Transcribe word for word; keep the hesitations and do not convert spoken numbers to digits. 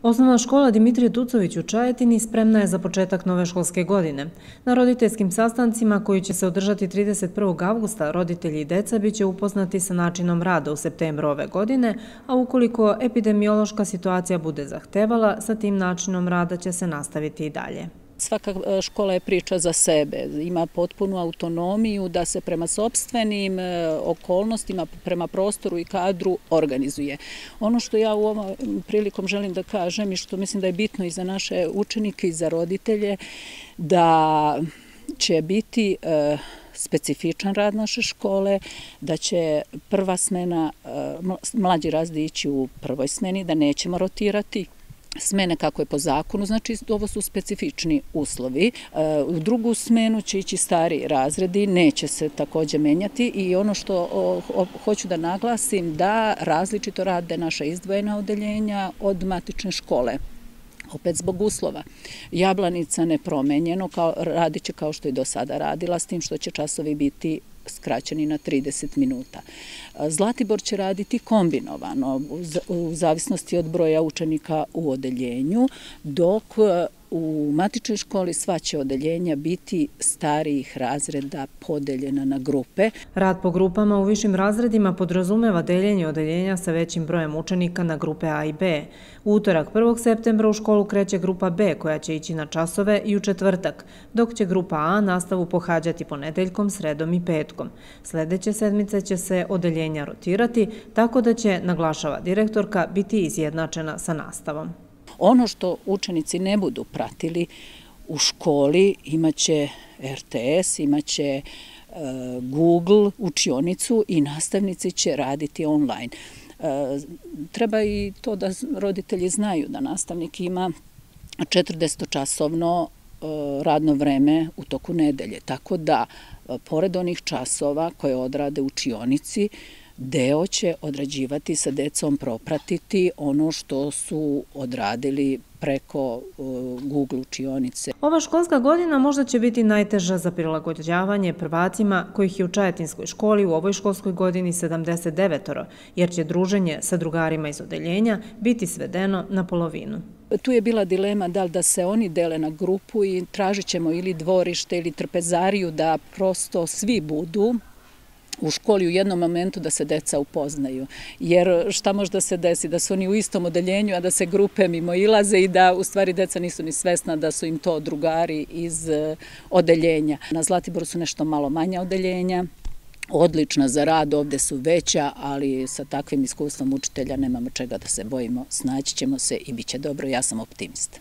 Osnovna škola Dimitrije Tucović u Čajetini spremna je za početak nove školske godine. Na roditeljskim sastancima koji će se održati trideset prvog avgusta roditelji i deca biće upoznati sa načinom rada u septembru ove godine, a ukoliko epidemiološka situacija bude zahtevala, sa tim načinom rada će se nastaviti i dalje. Svaka škola je priča za sebe, ima potpunu autonomiju da se prema sopstvenim okolnostima, prema prostoru i kadru organizuje. Ono što ja u ovom prilikom želim da kažem i što mislim da je bitno i za naše učenike i za roditelje, da će biti specifičan rad naše škole, da će prva smena, mlađi razred ići u prvoj smeni, da nećemo rotirati smene kako je po zakonu, znači ovo su specifični uslovi. U drugu smenu će ići stari razredi, neće se također menjati i ono što hoću da naglasim da različito rade naša izdvojena odeljenja od matične škole. Opet zbog uslova. Jablanica nepromenjeno, radit će kao što je do sada radila, s tim što će časovi biti skraćeni na trideset minuta. Zlatibor će raditi kombinovano, u zavisnosti od broja učenika u odeljenju, dok u matičnoj školi sva će odeljenja biti starijih razreda podeljena na grupe. Rad po grupama u višim razredima podrazumeva deljenje odeljenja sa većim brojem učenika na grupe A i B. U utorak prvog septembra u školu kreće grupa B koja će ići na časove i u četvrtak, dok će grupa A nastavu pohađati ponedeljkom, sredom i petkom. Sledeće sedmice će se odeljenja rotirati, tako da će, naglašava direktorka, biti izjednačena sa nastavom. Ono što učenici ne budu pratili u školi imaće R T S, imaće Google učionicu i nastavnici će raditi online. Treba i to da roditelji znaju da nastavnik ima četrdesetčasovno radno vreme u toku nedelje, tako da pored onih časova koje odrade u učionici, deo će odrađivati sa decom, propratiti ono što su odradili preko Google učionice. Ova školska godina možda će biti najteža za prilagođavanje prvacima kojih je u Čajetinskoj školi u ovoj školskoj godini sedamdeset devet, jer će druženje sa drugarima iz odeljenja biti svedeno na polovinu. Tu je bila dilema da li da se oni dele na grupu i tražit ćemo ili dvorište ili trpezariju da prosto svi budu u školi u jednom momentu da se deca upoznaju. Jer šta može da se desi? Da su oni u istom odeljenju, a da se grupe mimo ilaze i da u stvari deca nisu ni svesna da su im to drugari iz odeljenja. Na Zlatiboru su nešto malo manja odeljenja, odlična za rad, ovde su veća, ali sa takvim iskustvom učitelja nemamo čega da se bojimo, snaći ćemo se i bit će dobro, ja sam optimista.